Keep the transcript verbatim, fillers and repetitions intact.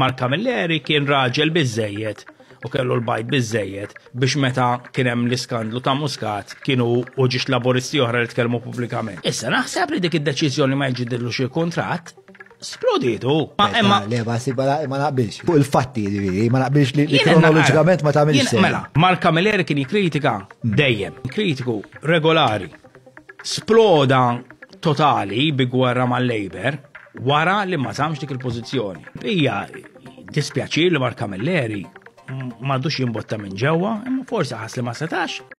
Mark Camilleri kien raġel biżejjed u kellu l-bajd biżejjed biex meta kien hemm l-iskandlu ta' Muscat kienu u ġiex Laburisti oħra li tkellmu pubblikament. Issa naħseb li dik id-deċiżjoni ma jġidillu xi kuntratt sploditu. Ma imma Le, ma si ma naqbilx. Fuq il-fatti, ġifieri, ma naqbilx li kronoloġikament ma tagħmilx. Mela, Mark Camilleri kien jikkritika dejjem, kritiku regolari. Sploda totali bi gwerra mal-Labour wara li ma żammx dik il-pożizzjoni. Hija dispjaċir li Mark Camilleri m'għadux jimbotta minn ġewwa, imma forsi ħass li ma setax.